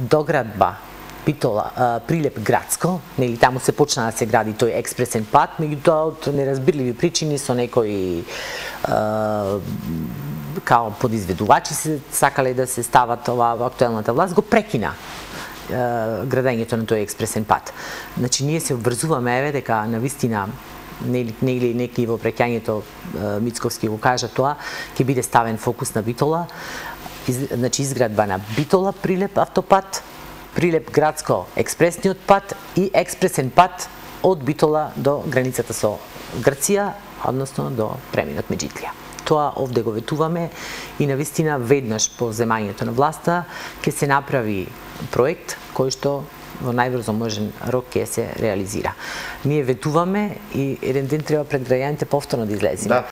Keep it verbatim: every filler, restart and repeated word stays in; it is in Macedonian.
доградба Битола, Прилеп градско, нели таму се почна да се гради тој експресен пат, меѓутоа од неразбирливи причини со некои као подизведувачи се сакале да се стават ова актуелната власт, го прекина градењето на тој експресен пат. Значи ние се обврзуваме еве дека навистина нели нели некои во преќањето Мицковски го кажа тоа, ќе биде ставен фокус на Битола, из, значи изградба на Битола Прилеп автопат, Прилеп градско експресниот пат и експресен пат од Битола до границата со Грција, односно до преминот Меджитлија. Тоа овде го ветуваме и навистина веднаш по земањето на власта ќе се направи проект кој што во најбрзо можен рок ќе се реализира. Ние ветуваме и еден ден треба пред граѓаните повторно да излеземе.